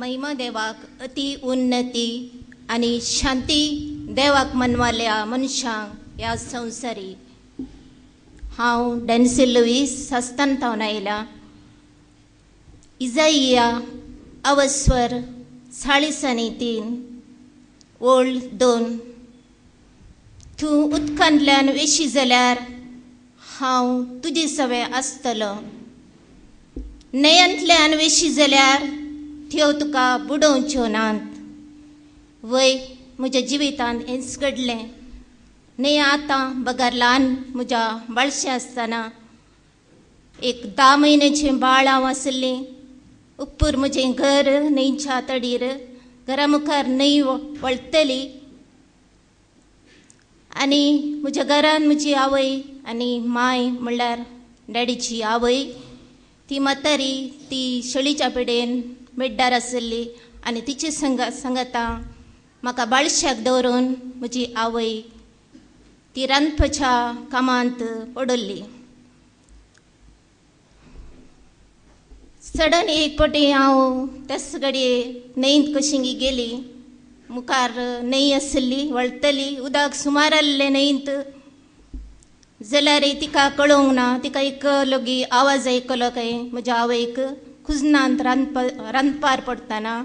महिमा देवाक अति उन्नती आनी शांती देवाक मनवाल्या मनशांक ह्या संवसारी. हांव डॅन्सी लुईस सास्तान थावन आयला. इजाइया अवस्वर 43 ओळ 2. तूं उदकांतल्यान वेशी जाल्यार हांव तुजे सवें आसतलो, न्हंयांतल्यान वेशी जाल्यार त्यो तुका बुडोवच्यो नात. वय म्हज्या जिवितांत हेंच घडलें. न्हय आतां बगर ल्हान म्हज्या बाळशें आसतना एक 10 म्हयन्याचें बाळ हांव आसलें. उप्पूर म्हजें घर न्हंयच्या तडीर, घरा मुखार न्हंय वळतली आनी म्हज्या घरान म्हजी आवय आनी माय म्हणल्यार डॅडीची आवय, ती म्हातारी, ती शेळीच्या पेडेन बेड्डार आसली आनी तिचे संगता म्हाका बाळशाक दवरून म्हजी आवय ती रांदपाच्या कामांत पडली. सडन एक पटी हांव त्याच घडये न्हंयंत कशी गेली. मुखार न्हंय आसली वळतली, उदक सुमार आसलें न्हंयंत. जाल्यार तिका कळोवंक ना, तिका एक लोगी आवाज आयकलो काय म्हज्या आवयक कुजनांत रांदपार पडटना.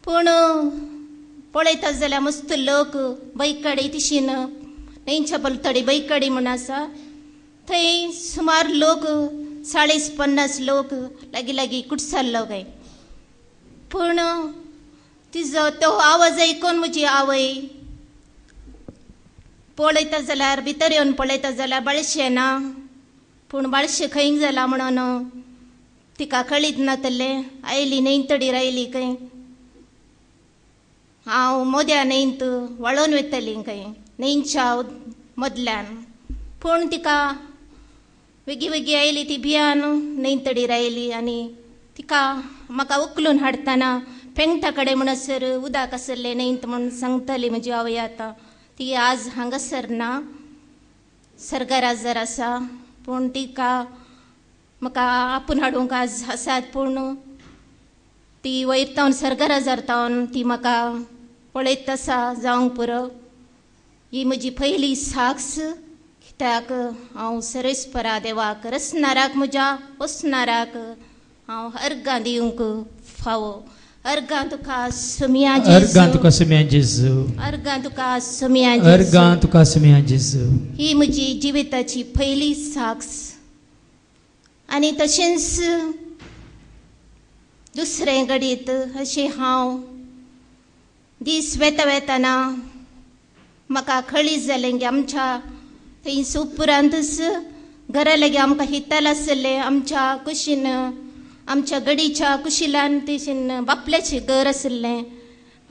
पूण पळयता जाल्यार मस्त लोक बैकडी तिशीन न्हंयच्या पलतडी बैकडी म्हूण आसा थंय सुमार लोक 40-50 लोक लागीं लागीं कुटसाल्लो काय. पूण तिजो तो आवाज आयकून म्हजी आवय पळयता जाल्यार भितर येवन पळयता जाल्यार बाळशें ना. पूण बाळशें खंय जाला म्हणून तिका कळीत नातलें. आयली न्हंय तडीर आयली खंय, हांव मोद्या न्हंयंत वळोन वयतली खंय न्हंयच्या मदल्यान. पूण तिका वेगीं वेगीं आयली, ती भियान न्हंय तडीर आयली आनी तिका म्हाका उखलून हाडटना पेंगटा कडेन म्हणसर उदक आसलें न्हंयंत म्हूण सांगतली म्हजी आवय. आतां ती आज हांगासर ना, सर्गराजर आसा. पूण तिका म्हाका आपूण हाडूंक आज आसात, पूण ती वयर तावन सर्गराजार तावन ती म्हाका पळयत आसा जावंक पुरो. ही म्हजी पयली साक्ष, कित्याक हांव सरेस्परा देवाक रसनाराक म्हज्या वसनाराक हांव अर्गां दिवंक फावो. अर्गां तुका सुम्या अर्गां तुका सुम्या जेजू, अर्गां तुका सुम्या जेजू, अर्गां तुका सुम्या जेजू. ही म्हजी जिविताची पयली साक्ष. आनी तशेंच दुसरें घडीत अशें हांव दीस वेता वेतना म्हाका कळीत जालें की आमच्या थंय सुपुरांतच घरा लागीं आमकां हिताल आसलें. आमच्या कुशीन आमच्या गडीच्या कुशिलान तेशीन बापल्याचें घर आसलें.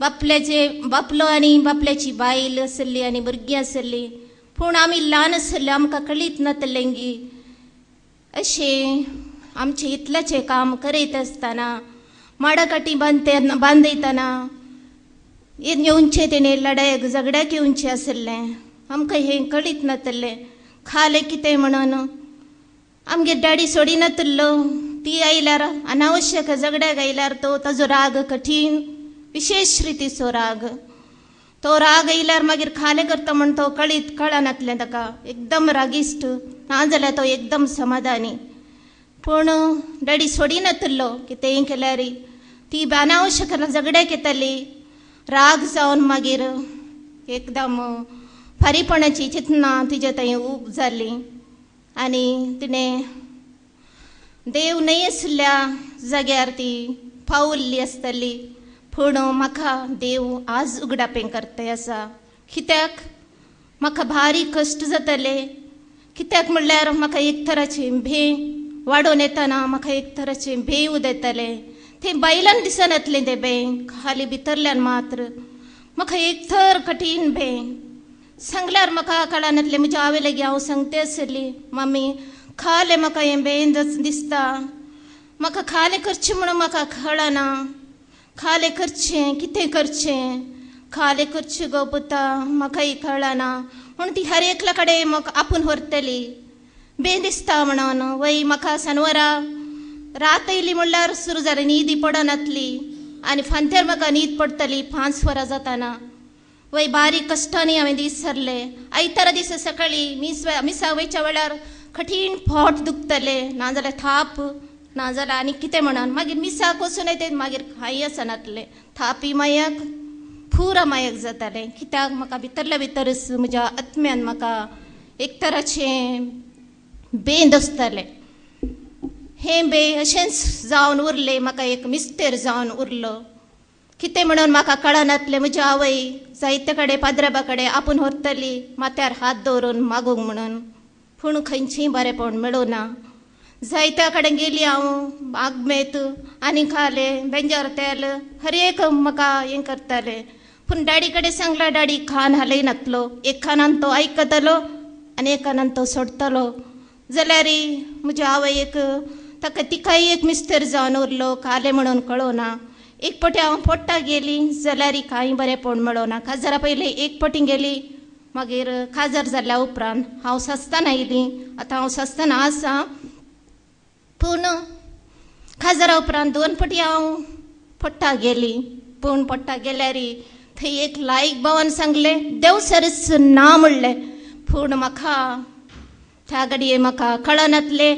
बापल्याचे बापलो आनी बापल्याची बायल आसली आनी भुरगीं आसलीं. पूण आमी ल्हान आसले, आमकां कळीत नातलें की अशें आमचें इतल्याचें काम करीत आसतना माडाकाटी बांदयतना येवचें तेणें लडायक झगड्याक येवचें आसलें. आमकां हें कळीत नातलें. खालें कितें म्हणून आमगेर डॅडी सोडिनातल्लो. ती आयल्यार अनावश्यक झगड्याक आयल्यार तो ताजो राग कठीण विशेश रितीचो राग. तो राग आयल्यार मागीर खालें करता म्हण तो कळीत कळनातलें ताका. एकदम रागिश्ट ना जाल्यार तो एकदम समाधानी. पूण डॅडी सोडिनातल्लो कितेंय केल्यार ती अनावश्यक झगड्याक येताली. राग जावन मागीर एकदम फारीपणाची चिंतना तिजे थंय ऊब जाली आनी तिणें देव न्हय आसल्या जाग्यार ती पावल्ली आसतली. पूण म्हाका देव आज उगडापें करता आसा. कित्याक म्हाका भारी कश्ट जातले. कित्याक म्हणल्यार म्हाका एक तराचें भें वाडोवन येतना म्हाका एक तराचें भें उदयतालें. तें बायलान दिसनातलें तें भें, खाली भितरल्यान मात्र म्हाका एक थर कठीण भें. सांगल्यार म्हाका कळनातलें. म्हज्या आवय लागीं हांव सांगते आसली, मम्मी खालें म्हाका हें भें दिसता, म्हाका खालें करचें म्हणून म्हाका कळना, खालें करचें कितें करचें, खालें करचें गो पुता म्हाकाय कळना. म्हूण ती हर एकल्या कडेन म्हाका आपूण व्हरतली भें दिसता म्हणून. वय म्हाका सनवरा रात येयली म्हणल्यार सुरू जाली, न्हीद पडनातली आनी फांत्यार म्हाका न्हीद पडटली 5 वरां जाताना. वय बारीक कश्टांनी हांवें दीस सरले. आयतारा दिसा सकाळीं मिसाक वयच्या वेळार कठीण पोट दुखतले, नाजाल्यार थाप, नाजाल्यार आनी कितें म्हणून. मागीर मिसाक वचून येते, मागीर कांय आसनातलें, थापी मायाक पुरा मायक जातालें. कित्याक म्हाका भितरल्या भितरच म्हज्या आत्म्यान म्हाका एक तराचें बेंद आसतालें. हें बे अशेंच जावन उरलें, म्हाका एक मिस्तेर जावन उरलो. कितें म्हणून म्हाका कळनातलें. म्हजी आवय जायते कडेन पाद्रबा कडेन आपूण व्हरतली माथ्यार हात दवरून मागूंक म्हणून, पूण खंयचीय बरेंपण मेळूना. जायत्या कडेन गेली हांव, आगमेत आनी खाले बेंजार तेल हर एक म्हाका हें करतालें. पूण डॅडी कडेन सांगलां, डॅडी खान हालयनातलो, एक खानान तो आयकतलो आनी एक खानान तो सोडटलो. जाल्यार म्हज्या आवय एक ताका तिकाय एक मिस्तर जावन उरलो, कालें म्हणून कळोना. एक पटी हांव पोट्टा गेली जाल्यार कांय बरेंपण मेळोना. काजारा पयलीं एक पटी गेली, मागीर काजार जाल्या उपरांत हांव सस्तान आयली. आतां हांव सस्तान आसा, पूण काजारा उपरांत 2 पटी हांव पोट्टा गेली. पूण पोट्टा गेल्यार थंय एक लायक भावान सांगलें देवसरच ना म्हणलें. पूण म्हाका त्या घडये म्हाका कळनातलें.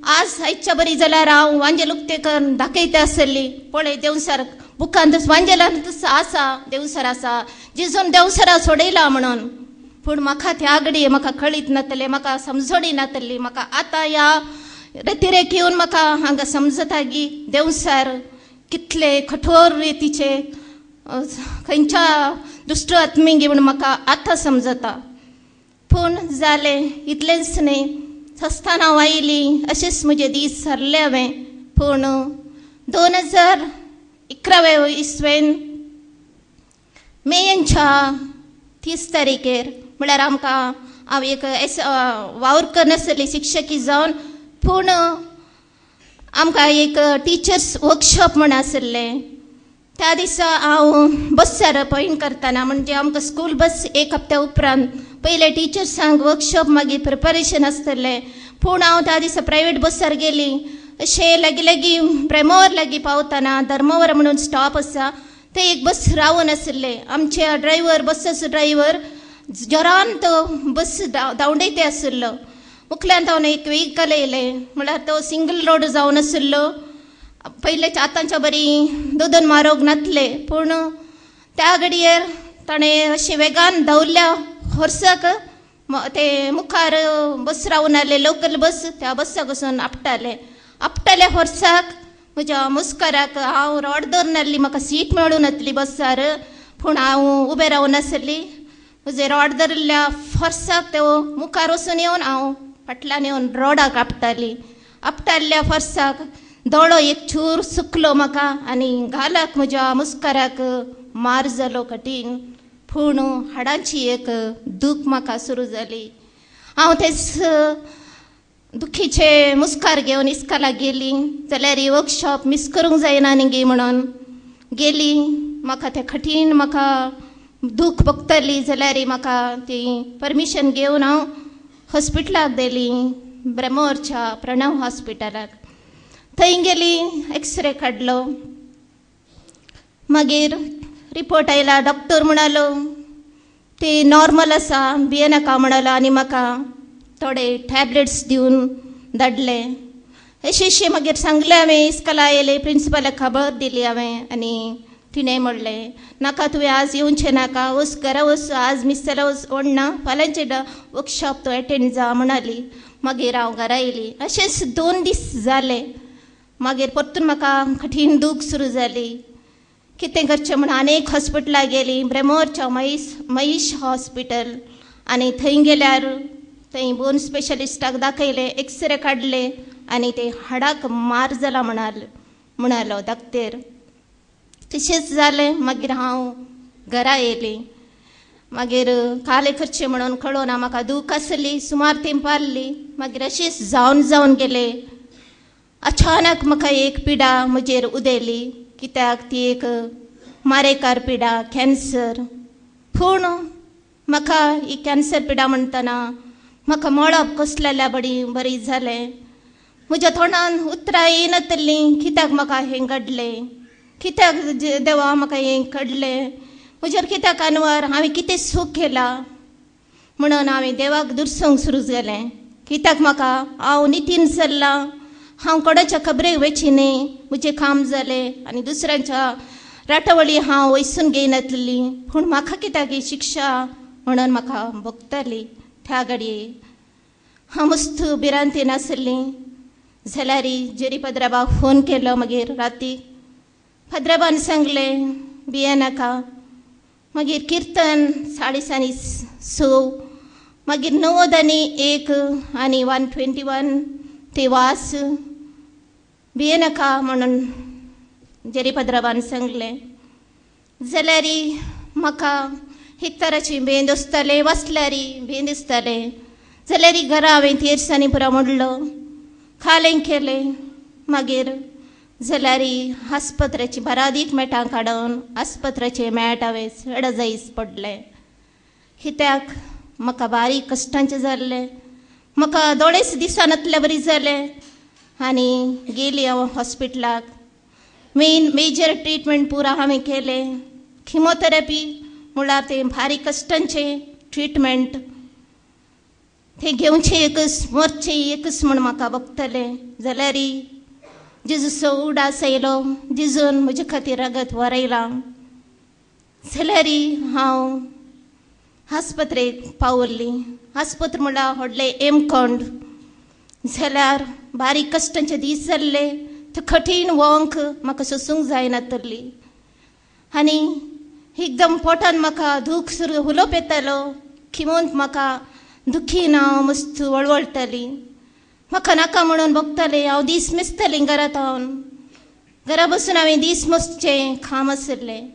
आज आयच्या बरी जाल्यार हांव वांजेल उक्तें करून दाखयता आसली, पळय देवसर बुकांत वांजेलांत आसा, देवसर आसा, जिजून देवसरा सोडयला म्हणून. पूण म्हाका त्या घडये म्हाका कळीत नातलें, म्हाका समजणी नातली. म्हाका आतां ह्या रतिरेक येवन म्हाका हांगा समजता की देवसर कितले कठोर रितीचे खंयच्या दुश्ट आत्मींगी म्हूण म्हाका आतां समजता. पूण जालें इतलेंच न्ही, सस्तान हांव आयली, अशेंच म्हजे दीस सरले हांवें. पूण 2011 इसवेन मेयेच्या 30 तारखेर म्हळ्यार आमकां हांव एक एस वावर करनासली शिक्षकी जावन, पूण आमकां एक टिचर्स वर्कशॉप म्हण आशिल्लें. त्या दिसा हांव बस्सार अपॉयंट करतना, म्हणजे आमकां स्कूल बस एक हप्त्या उपरांत पयले टिचर्सांक वर्कशॉप मागीर प्रिपरेशन आसतलें. पूण हांव त्या दिसा प्रायवेट बस्सार गेली. अशें लागीं लागीं प्रेमोवर लागीं पावतना धर्मावर म्हणून स्टॉप आसा, थंय एक बस रावून आशिल्लें. आमचे ड्रायव्हर बस्साचो ड्रायव्हर जोरान तो बस धांवडयते आशिल्लो. मुखल्यान तावन एक व्हेकल येयलें, म्हळ्यार तो सिंगल रोड जावन आशिल्लो. पयलेच्या आतांच्या बरी दोन मारोग नातले, पूण त्या घडयेर ताणें अशें वेगान धांवल्या होर्साक ते मुखार बस रावून आसले लोकल बस, त्या बस्साक वचून आपटाले. आपटाले होर्साक म्हज्या मुस्काराक हांव रोड दवरून आसली, म्हाका सीट मेळूं नासली बस्सार, पूण हांव उबें रावून आसली. म्हजे रोड धरिल्ल्या फोर्साक तो मुखार वचून येवन हांव फाटल्यान येवन रोडाक आपटाली. आपटाल्ल्या फोर्साक दोळो एक चूर सुकलो म्हाका आनी गालाक म्हज्या मुस्काराक मार जालो कठीण. पूण हाडांची एक दूख म्हाका सुरू जाली. हांव तेच दुखीचे मुस्कार घेवन इस्कालाक गेली. जाल्यार वर्कशॉप मीस करूंक जायना न्ही म्हणून गेली. म्हाका तें कठीण म्हाका दूख भोगतली जाल्यार म्हाका ती परमिशन घेवन हांव हॉस्पिटलाक गेली, ब्रह्मोरच्या प्रणव हॉस्पिटलाक. थंय गेली, एक्सरे काडलो, मागीर रिपोर्ट आयला. डॉक्टर म्हणालो ते नॉर्मल आसा, भियेनाका म्हणालो आनी म्हाका थोडे टॅबलेट्स दिवन धाडले. अशें अशें मागीर सांगलें हांवें. इस्कला आयलें, प्रिंसिपलाक खबर दिली हांवें आनी तिणें म्हणलें नाका तुवें आज येवचें नाका, वच घरा वच, आज मिस जाल्यार वच ओडना, फाल्यांचे वर्कशॉप तूं एटेंड जा म्हणाली. मागीर हांव घरा येयली. अशेंच 2 दीस जाले. मागीर परतून म्हाका कठीण दूख सुरू जाली. कितें करचें म्हूण आनी एक हॉस्पिटलाक गेली, ब्रेमोरच्या महेश हॉस्पिटल. आनी थंय गेल्यार थंय बोन स्पेशलिस्टाक दाखयलें, एक्सरे काडले आनी ते हाडाक मार जाला म्हणालो दाक्तेर. तशेंच जालें. मागीर हांव घरा येयली. मागीर कालें करचें म्हणून कळोना, म्हाका दूख आसली, सुमार तेंप आसली. मागीर अशेंच जावन जावन गेलें. अचानक म्हाका एक पिडा म्हजेर उदेली, कित्याक ती एक मारेकार पिडा, कॅन्सर. पूण म्हाका ही कॅन्सर पिडा म्हणटना म्हाका मळब कसलेल्या बरी बरी जालें. म्हज्या तोंडान उतरां येयनातलीं, कित्याक म्हाका हें घडलें. कित्याक देवा म्हाका हें कडलें म्हजेर कित्याक अनवर हांवें कितें सूख केलां म्हणून हांवें देवाक दुरसूंक सुरू जालें. कित्याक म्हाका हांव नितीन चल्लां, हांव कोणाच्या खबरेक वेची न्ही, म्हजें काम जालें आनी दुसऱ्यांच्या राटावळी हांव वयसून घेयनातली, पूण म्हाका कित्याक ही शिक्षा म्हणून म्हाका भोगताली. त्या घडये हांव मस्त भिरांतीन आसली. जाल्यार जेरी पद्राबाक फोन केलो. मागीर राती पद्राबान सांगलें भियेनाका. मागीर किर्तन 6:30 मागीर 91 आनी 121 ते वास भियेनाका म्हणून जेरी पद्राबान सांगलें. जाल्यार म्हाका एक तराची भेंद दिसतालें, वाचल्यार भेंद दिसतालें. जाल्यार घरा हांवें तेरसांनी पुरो मोडलो, खालें केलें. मागीर जाल्यार आस्पत्रेची बारादीक मेटां काडून आस्पत्रेचे मॅट हांवें चड जायच पडलें. कित्याक म्हाका बारीक कश्टांचें जाल्लें, म्हाका दोळेच दिसनातल्या बरी जालें. आनी गेली हांव हॉस्पिटलाक, मेन मेजर ट्रिटमेंट पुरा हांवें केलें. किमोथेरपी म्हळ्यार तें बारीक कश्टांचें ट्रिटमेंट, तें घेवचें एकच मरचें एकच म्हूण म्हाका बगतलें. जाल्यार जेजूचो उडास येयलो, जेजून म्हजे खातीर रगत वरयलां. जाल्यार हांव आस्पत्रेक पावल्ली. आस्पत्र म्हळ्यार व्हडलें हेमकोंड. जाल्यार बारीक कश्टांचे दीस जाल्ले, ते कठीण वंक म्हाका सोसूंक जायनातली. आनी एकदम पोटान म्हाका दूख सुरू उलोवप येतालो, किमोंत म्हाका दुखीन हांव मस्त वळवळटाली. म्हाका नाका म्हणून भोगतालें. हांव दीस मेजतालें घरांत हांव घरा बसून हांवें दीस मसचें काम आशिल्लें.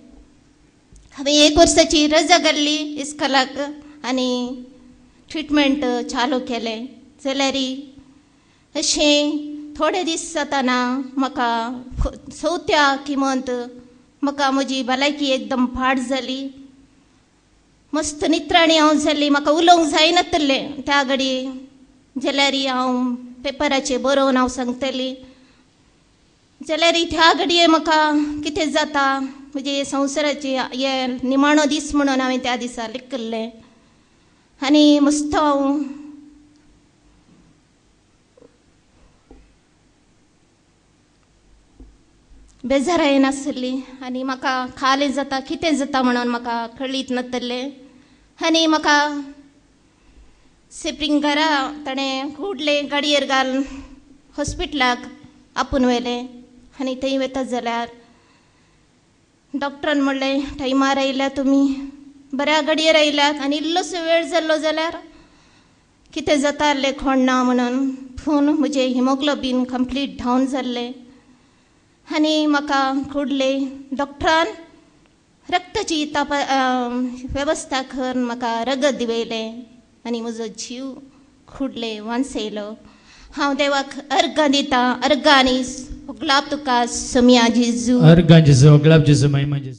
हांवें 1 वर्साची रजा घाल्ली इस्कॉलाक आनी ट्रिटमेंट चालू केलें. जाल्यार अशें थोडे दीस जाताना म्हाका चवथ्या किमंत म्हाका म्हजी भलायकी एकदम पाड जाली. मस्त नित्राणी हांव जाली, म्हाका उलोवंक जायनातलें त्या घडये. जाल्यार हांव पेपराचेर बरोवन हांव सांगतली. जाल्यार त्या घडये म्हाका कितें जाता म्हजे संवसाराचे हे निमाणो दीस म्हणून हांवें त्या दिसा लिखिल्लें. आनी मस्त हांव बेजाराय नासली आनी म्हाका खालें जाता कितें जाता म्हणून म्हाका कळीत नातलें. आनी म्हाका सेपरींग घरा ताणें कुडलें गाडयेर घालून हॉस्पिटलाक आपूण व्हेलें. आनी थंय वता जाल्यार डॉक्टरान म्हणलें टायमार आयल्या तुमी, बऱ्या गाडयेर आयल्यात आनी इल्लोसो वेळ जाल्लो जाल्यार कितें जाता आसलें कोण ना म्हणून. पूण म्हजें हिमोग्लोबीन कंप्लीट डावन जाल्लें आनी म्हाका कुडले डॉक्टरान रक्ताची वेवस्था करून म्हाका रगत दिवयलें आनी म्हजो जीव खुडले वांचयलो. हांव देवाक अर्गां दितां, अर्गां आनी गुलाब तुका सोमया जेजू. अर्गां जेजू, गुलाब जेजू, महिमा जेजू.